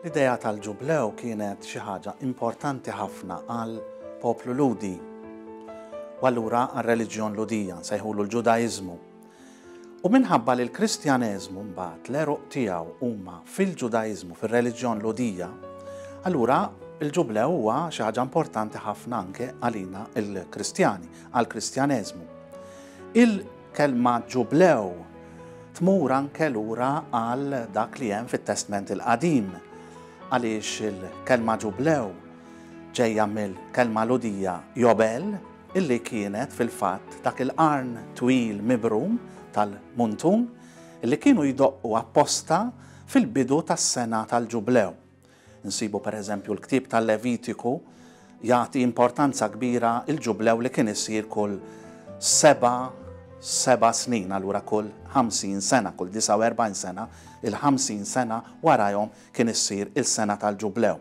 L-idea tal-Ġublew kienet xi ħaġa importanti ħafna għall-poplu Lhudi u allura għar-reliġjon Lhudija, nsejħulu l-Ġudaiżmu. U minħabba li l-Kristjaneżmu mbagħad l-għeruq tiegħu huma fil-Ġudaiżmu, fir-reliġjon Lhudija, allura l-Ġublew huwa xi ħaġa importanti ħafna anke għalina l-Kristjani, għall-Kristjaneżmu. Il-kelma Ġublew tmur anke lura għal dak li hemm fit-Testment il-Qadim, għaliex il-kelma Ġublew ġejja mill-kelma Lhudija Jobel, illi kienet fil-fatt dak il-qarn twil mibrum tal-muntun illi kienu jdoqqu apposta fil-bidu tas-sena tal-Ġublew. Insibu pereżempju l-ktieb tal-Levitiku jagħti importanza kbira l-Ġublew li kien isir kull seba' seba' snin, allura kull 50 sena, kull 49 sena, il-50 sena warajhom kien issir il-sena tal-Ġublew.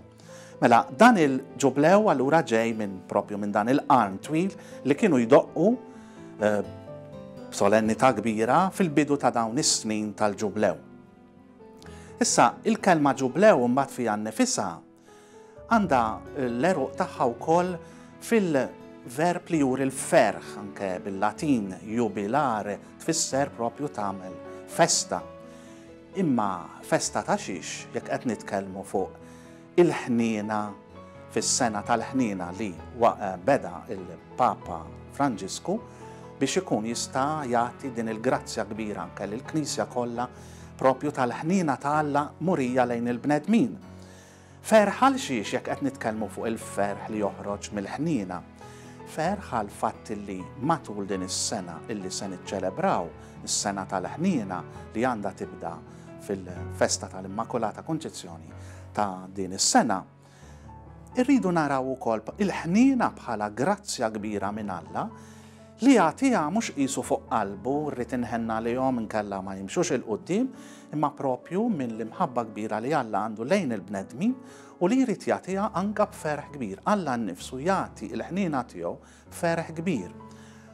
Mela, dan il-Ġublew allura ġej minn propju minn dan il-qarn twil li kienu jdoqqu eh, b'solennità kbira fil-bidu ta' dawn is-snin tal-Ġublew. Issa, il-kelma Ġublew imbagħad fiha nnifisha għandha l-għeruq tagħha wkoll fil-verb li juri l-ferħ, anke bil-Latin jubilare tfisser propju tagħmel festa. Imma festa ta' xiex jekk qed nitkellmu fuq il-ħniena fis-sena tal-ħniena li beda il-Papa Franġisku biex ikun jista' jagħti din il-grazzja kbira anke lill-Knisja kollha propju tal-ħniena ta' Alla murija lejn il-bnedmin. Ferħ għal xiex jekk qed nitkellmu fuq il-ferħ li joħroġ mill-ħniena? Ferħ għall-fatt li matul din is-sena illi se niċċelebraw, is-sena tal-ħniena li għandha tibda fil-festa tal-Immakulata Kunċizzjoni ta' din is-sena, irridu naraw ukoll il-ħniena bħala grazzja kbira minn Alla li jagħtiha mhux qisu fuq qalbu rrid inħenn għalihom inkella ma jimxux 'il quddiem, imma propju minn l-imħabba kbira li Alla għandu lejn il-bnedmin u li jrid jagħtiha anke b'ferħ kbir. Alla nnifsu jagħti l-ħniena tiegħu b'ferħ kbir.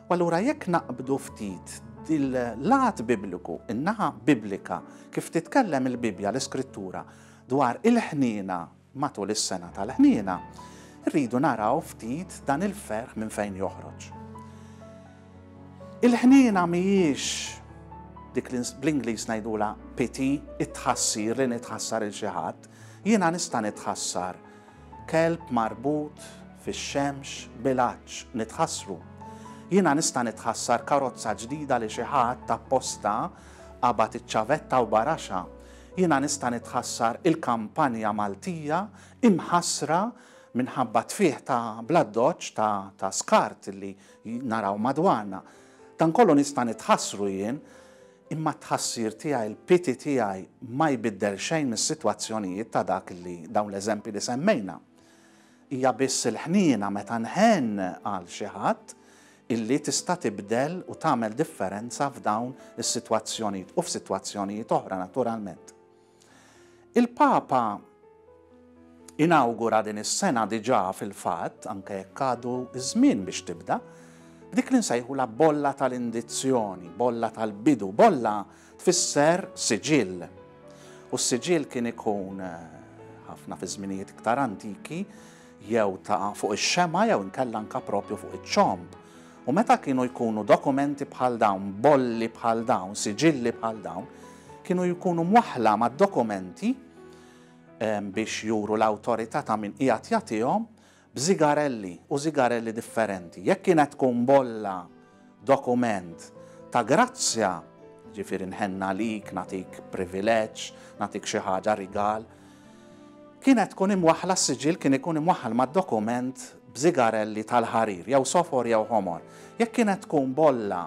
U allura jekk naqbdu ftit dil-lat bibliku, in-naħa biblika, kif titkellem il-Bibbja, l-Iskrittura, dwar il-ħniena Matul is-sena tal-ħniena, irridu naraw ftit dan il-ferħ minn fejn joħroġ. Il-ħniena mhijiex dik li bl-Ingliż ngħidulha pity, it-tħassir li nitħassar il xi ħadd. Jiena nista' nitħassar kelb marbut fix-xemx bil-għatx, nitħassru. Jiena nista' nitħassar karozza ġdida li xi ħadd apposta qabad iċ-ċavetta u baraxha. Jiena nista' nitħassar il-kampanja Maltija imħassra minħabba tfigħ ta' bl-addoċċ ta' ta' skart li naraw madwarna. Dan kollu nista' nitħassru jien, imma t-tħassir tiegħi, il-pity tiegħi ma jbiddel xejn mis-sitwazzjonijiet ta' dak li dawn l-eżempji li semmejna. Hija biss il-ħniena meta nħenn għal xi ħadd illi tista' tibdel u tagħmel differenza f'dawn is-sitwazzjonijiet u f'sitwazzjonijiet oħra naturalment. Il-Papa inawgura din is-sena diġà fil-fatt, anke jekk għadu ż-żmien biex tibda, b'dik li nsejħulha bolla tal-indizzjoni, bolla tal-bidu, bolla tfisser siġill. U s-siġill kien ikun eh, ħafna fi żminijiet iktar antiki jew ta' fuq ix-xemgħa jew inkella anke proprju fuq iċ-ċomb. U meta kienu jkunu dokumenti bħal dawn, bolli bħal dawn, siġilli bħal dawn, kienu jkunu mwaħħla mad-dokumenti biex juru l-awtorità ta' min qiegħed jagħtihom b'żigarelli u żigarelli differenti. Jekk kienet tkun bolla dokument ta' grazzja, ġifieri nħenn għalik, nagħtik privileġġ, nagħtik xi ħaġa rigal, Kienet tkun imwaħħla s-siġill kien ikun imwaħħal mad-dokument b'żigarelli tal-ħarir, jew sofor jew ħomor. Jekk kienet tkun bolla,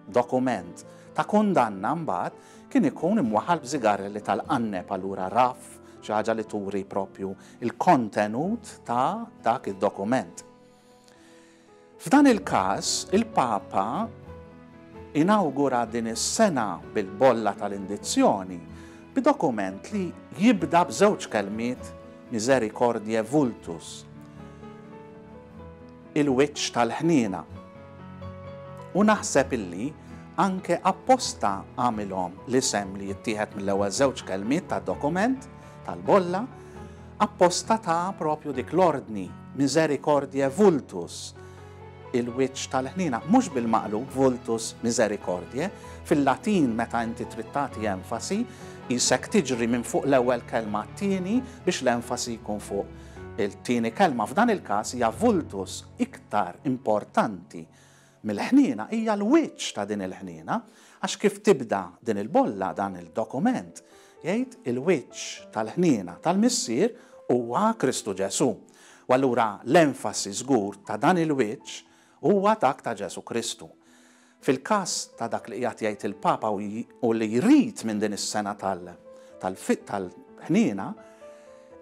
dokument, ta' kundanna mbagħad kien ikun imwaħħal b'żigarelli tal-qanneb allura raff, xi ħaġa li turi propju l-kontenut ta' dak id-dokument. F'dan il-każ, il-Papa inawgura din is-sena bil-bolla tal-indizzjoni b'dokument li jibda b'żewġ kelmiet Misericordiae Vultus, il-wiċċ tal-ħniena. U naħseb illi anke apposta għamilhom l-isem li jittieħed mill-ewwel żewġ kelmiet tad-dokument tal-bolla. Apposta ta propju dik l-ordni, misericordiae vultus, il-wiċċ tal-ħniena, mhux bil-maqlub vultus misericordiae. Fil-Latin meta inti trid tagħti enfasi, qisek tiġri minn fuq l-ewwel kelma għat-tieni biex l-enfasi jkun fuq il-tieni kelma. F'dan il-każ hija vultus iktar importanti mill-ħniena hija l-wiċċ ta' din il-ħniena, għax kif tibda din il-bolla, dan il-dokument, jgħid il-wiċċ tal-ħniena tal-Missier huwa Kristu Ġesù. U allura l-enfasi żgur ta' dan il-wiċċ huwa dak ta' Ġesù Kristu. Fil-każ ta' dak li qiegħed jgħid il-Papa u li jrid minn din is-sena tal-ħniena,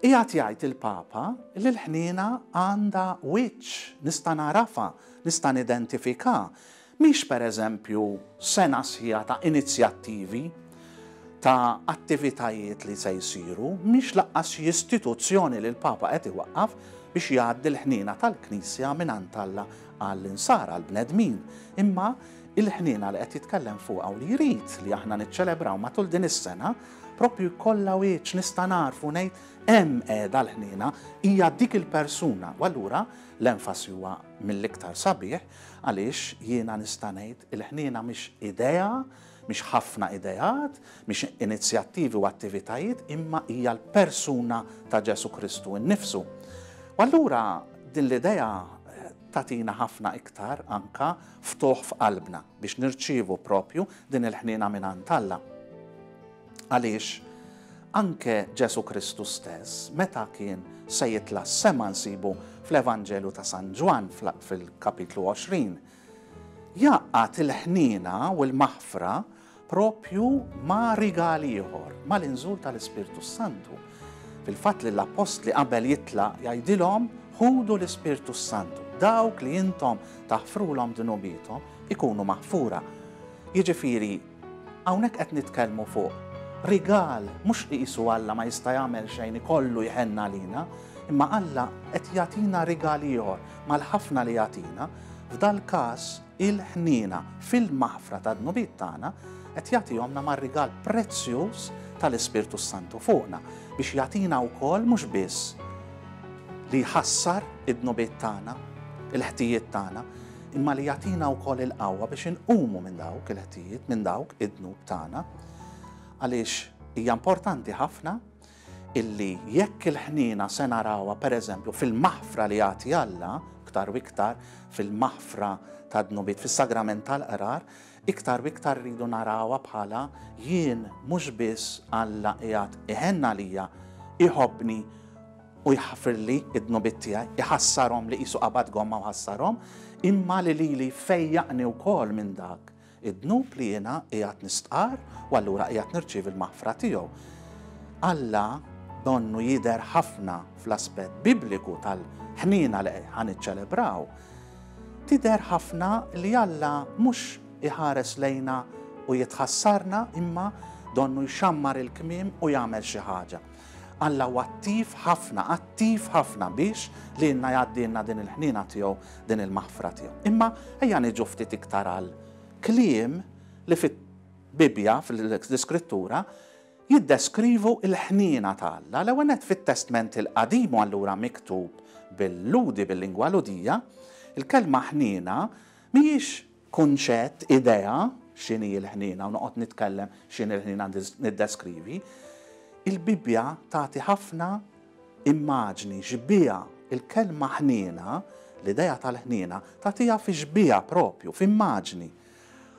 qiegħed jgħid il-Papa li l-ħniena għandha wiċċ, nista' nagħrafha, nista' nidentifikaha. Mhix pereżempju sena sħiħa ta' inizjattivi, ta' attivitajiet li se jsiru, mhix lanqas xi istituzzjoni li l-Papa qed iwaqqaf biex jgħaddi l-ħniena tal-Knisja mingħand Alla għall-insara, għall-bnedmin, imma il-ħniena li qed jitkellem fuqha u li jrid li aħna niċċelebraw matul din is-sena propju jkollha wiċċ nista' nagħrfu ngħid hemm qiegħda l-ħniena, hija dik il-persuna. U allura l-enfasi huwa mill-iktar sabiħ għaliex jiena nista' ngħid il-ħniena mhix idea, mhix ħafna ideat, mhix inizjattivi u attivitajiet, imma hija l-persuna ta' Ġesù Kristu nnifsu. U allura din l-idea tagħtina ħafna iktar anka ftuħ f'qalbna biex nirċievu propju din il-ħniena mingħand Alla. Għaliex anke Ġesù Kristu stess, meta kien se jitla' s-sema nsibu fl-Evanġelju ta' San Ġwann fil-kapitlu 20, jgħaqqad il-ħniena u l-maħfra propju ma' rigal ieħor, mal-inżul tal-Ispirtu s-Santu. Fil-fatt lill-appostli qabel jitlaq jgħidilhom ħudu l-Ispirtu s-Santu. Dawk li intom taħfrulhom dnubiethom ikunu maħfura. Jiġifieri hawnhekk qed nitkellmu fuq rigal mhux li qisu Alla ma jista' jagħmel xejn ikollu jħenn għalina, imma Alla qed jagħtina rigal ieħor mal-ħafna li jagħtina, f'dal-każ il-ħniena fil-maħfra tad-dnubiet tagħna qed jagħtihomna mar-rigal prezzjuż tal-Ispirtu s-Santu fuqna biex jagħtina wkoll mhux biss li jħassar id-dnubiet tagħna, il-ħtijiet tagħna, imma li jagħtina wkoll il-qawwa biex inqumu minn dawk il-ħtijiet, minn dawk id-dnub tagħna. Għaliex hija importanti ħafna illi jekk il-ħniena se narawha pereżempju fil-maħfra li jagħti Alla, iktar u iktar fil-maħfra tad-dnubiet fis-sagrament tal-qrar, iktar u iktar rridu narawha bħala jien mhux biss Alla qiegħed iħenn għalija, iħobbni u jħafirli id-dnubiet tiegħi, iħassarhom li qisu qabad gomma u ħassarhom, imma li lili fejjaqni wkoll minn dak Id-dnub li jiena qiegħed nistqarr u allura qiegħed nirċievi l-maħfra tiegħu. Alla donnu jidher ħafna fl-aspett bibliku tal-ħniena li ħa niċċelebraw. Tidher ħafna li Alla mhux iħares lejna u jitħassarna imma donnu jxammar il-kmiem u jagħmel xi ħaġa. Alla huwa attiv ħafna, attiv ħafna biex lilna jgħaddilna din il-ħniena tiegħu, din il-maħfra tiegħu. Imma ejja niġu ftit iktar għal kliem li fil-Bibbja, fl-Iskrittura, jiddeskrivu l-ħniena ta' Alla. L-ewwel nett fit-Testment il-Qadim u allura miktub bil-Lhudi, bil-lingwa Lhudija, il-kelma ħniena mhijiex Kunċett, idea, x'inhi l-ħniena u noqgħod nitkellem x'inhi l-ħniena niddeskrivi. Il-Bibbja tagħti ħafna immaġni, xbieha, il-kelma ħniena, l-idea tal-ħniena, tagħtiha fi xbieha propju, f'immaġni.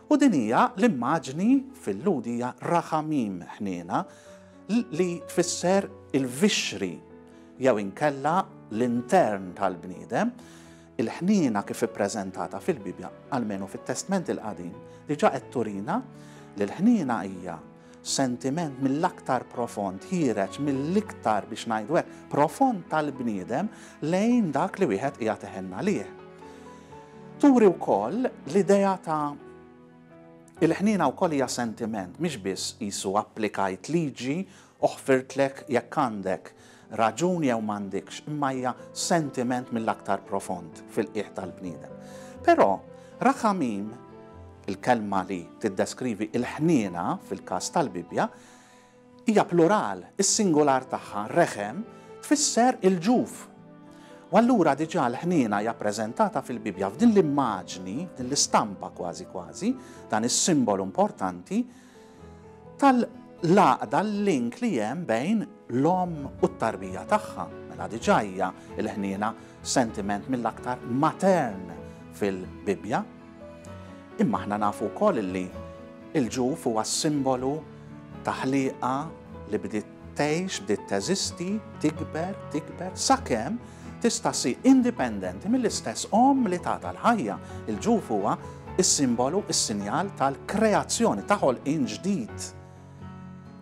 U din hija l-immaġni fil-Lhud hija rachamim, ħniena, li tfisser il-vixxri jew inkella l-intern tal-bniedem. Il-ħniena kif ippreżentata fil-Bibbja, almenu fit-Testment il-Qadim, diġà qed turina li l-ħniena hija sentiment mill-aktar profond, ħiereġ mill-iktar, biex ngħidu hekk, profond tal-bniedem lejn dak li wieħed qiegħed iħenn għalih. Turi wkoll l-idea ta' il-ħniena wkoll hija sentiment, mhix biss qisu applikajt liġi u ħfirtlek jekk għandek raġun jew m'għandikx, imma hija sentiment mill-aktar profond fil-qiegħ tal-bniedem. Però, rachamim, il-kelma li tiddeskrivi l-ħniena fil-każ tal-Bibbja, hija plural, is-singular tagħha, rechem, Tfisser il-ġuf. U allura diġà l-ħniena hija ppreżentata fil-Bibbja f'din l-immaġni, f'din l-istampa kważi kważi, dan is-simbolu importanti tal-għaqda l-link li hemm bejn l-omm u t-tarbija tagħha. Mela diġà hija l-ħniena sentiment mill-aktar matern fil-Bibbja. Imma aħna nafu wkoll li l-ġuf huwa s-simbolu ta' ħliqa li bdiet tgħix, bdiet teżisti, tikber, tikber, sakemm tista' ssir indipendenti mill-istess omm li tatha l-ħajja. Il-ġuf huwa s-simbolu, is-sinjal tal-kreazzjoni, ta' ħolqien ġdid.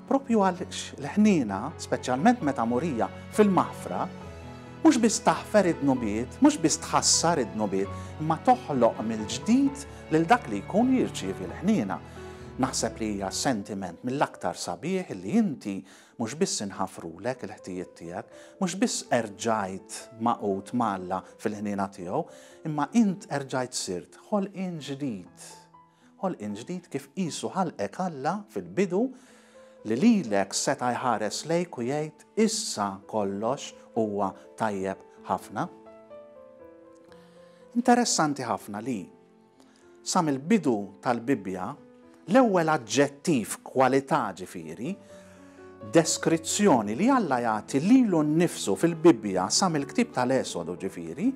Proprju għaliex l-ħniena, speċjalment meta murija fil-maħfra, mhux biss taħfer id-dnubiet, mhux biss tħassar id-dnubiet, imma toħloq mill-ġdid lil dak li jkun jirċievi l-ħniena. Naħseb li hija sentiment mill-aktar sabiħ li inti mhux biss inħafrulek il-ħtijiet tiegħek, mhux biss erġajt magħqud ma' Alla fil-ħniena tiegħu, imma int erġajt sirt ħolqien ġdid. Ħolqien ġdid kif qisu ħalqek Alla fil-bidu li lilek seta' jħares lejk u jgħid issa kollox huwa tajjeb ħafna. Interessanti ħafna li sa mill-bidu tal-Bibbja l-ewwel aġġettiv, kwalità ġifieri, deskrizzjoni li Alla jagħti lilu nnifsu fil-Bibbja sa mill-ktieb tal-Esodu ġifieri,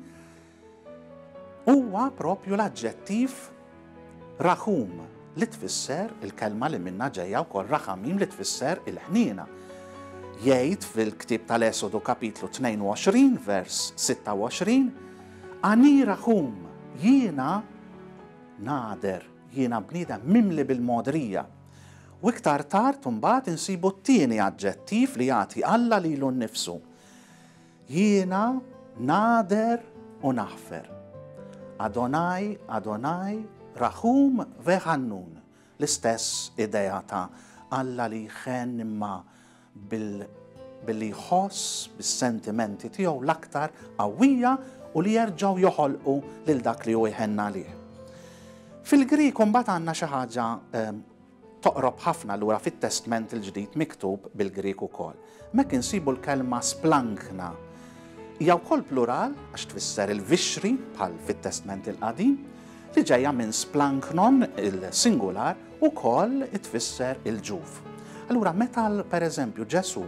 Huwa proprju l-aġġettiv raħum li tfisser il-kelma li minnha ġejja wkoll raħamim li tfisser il-ħniena. Jgħid fil-ktieb tal-Esodu kapitlu 22 vers 26, Ani raħum, jiena nagħder, jiena bniedem mimli bil-mogħdrija. U iktar tard imbagħad insibu t-tieni aġġettiv li jagħti Alla lilu nnifsu. Jiena nagħder u naħfer. Adonai, Adonai, Raħum veħannun. L-istess idea ta' Alla li jħenn imma billi jħoss bis-sentimenti tiegħu l-aktar qawwija u li jerġgħu joħolqu lil dak li hu jħenn għalih. Fil-Grieg imbagħad għandna xi ħaġa ehm, Toqrob ħafna allura fit-Testment il-Ġdid miktub bil-Grieg ukoll. Hemmhekk insibu l-kelma splankna. Hija wkoll plural għax tfisser il-vixxri bħal fit-Testment il-Qadim, li ġejja minn splanknon il-singular ukoll tfisser il-ġuf. Allura meta pereżempju Ġesù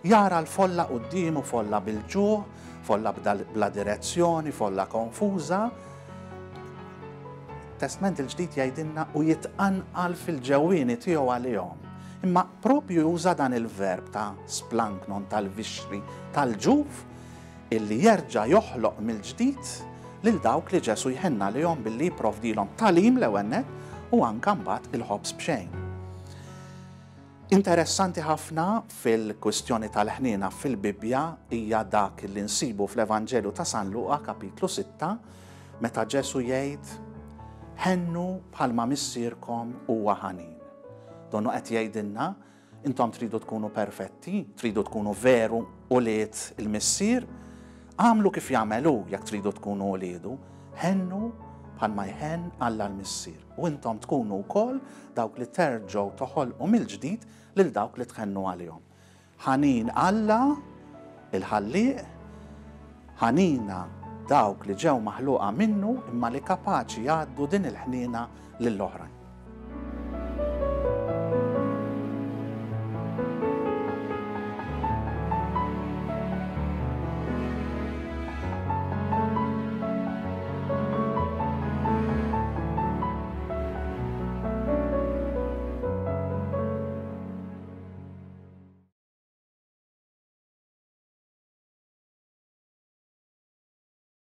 jara l-folla quddiemu folla bil-ġuħ, folla bla direzzjoni, folla konfuża, Testment il-Ġdid jgħidilna u jitqanqal fil-ġewwieni tiegħu għalihom. Imma propju juża dan il-verb ta' splanknon tal-vixxri tal-ġuf illi jerġa' joħloq mill-ġdid lil dawk li Ġesù jħenn għalihom billi jipprovdilhom tagħlim l-ewwel nett u anke mbagħad il-ħobż b'xejn. Interessanti ħafna fil-kwistjoni tal-ħniena fil-Bibbja hija dak li nsibu fl-Evanġelju ta' San Luqa kapitlu 6 meta Ġesù jgħid Ħennu bħalma missierkom huwa ħanin. Donnu qed jgħidilna intom tridu tkunu perfetti, tridu tkunu veru ulied il-Missier, agħmlu kif jagħmel hu jekk tridu tkunu uliedu, ħennu bħalma jħenn Alla l-Missier. U intom tkunu wkoll dawk li terġgħu toħolqu mill-ġdid lil dawk li tħennu għalihom. Ħanin Alla, il-Ħallieq, ħanina dawk li ġew maħluqa minnu imma li kapaċi jgħaddu din il-ħniena lill-oħrajn.